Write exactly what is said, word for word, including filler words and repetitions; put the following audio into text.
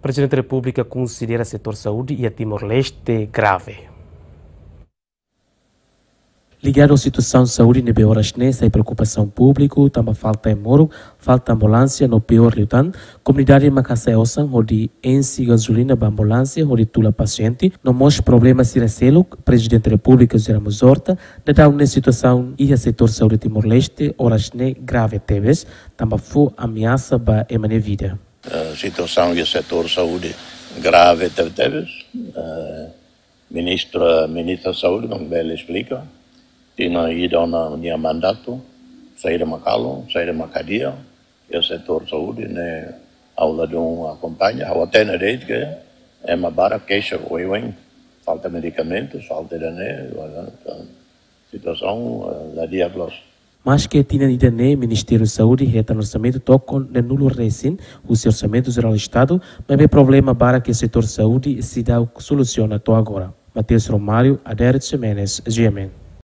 Prezidente Repúblika konsidera setór saúde iha Timor-Leste grave. Ligadu ho situasaun saúde ne'ebé oras ne'e sai preokupasaun públiku, tanba falta hemoruk, falta ambulánsia no piór liután, komunidade mak hasa'e osan hodi enxe gazolina ba ambulánsia hodi tula pasiente, no mós problema sira seluk, Prezidente Repúblika José Ramos Horta, daudaun ne'e situasaun iha setór saúde Timor-Leste oras ne'e grave tebes, tanba fó ameasa ba ema nia vida. Eh, situasaun iha setór saúde grave tebetebes. Eh, ministra, ministra saúde, mak bele esplika. Tinan ida ona nia mandatu, saida mak halo, saida mak hadi'a iha setór saúde ne'e, ha'u ladún akompaña, ha'u hatene de'it ke ema barak keixa oioin. Falta medikamentus, falta ida-ne'e, situasaun, eh, la di'ak loos. Maske tinan ida-ne'e, Ministériu Saúde hetan orsamentu tokon neenulu resin husi Orsamentu Jerál Estadu, maibé problema barak iha setór saúde seidauk solusiona to'o agora. Mateus Romário, Adérito Ximenes, G M N.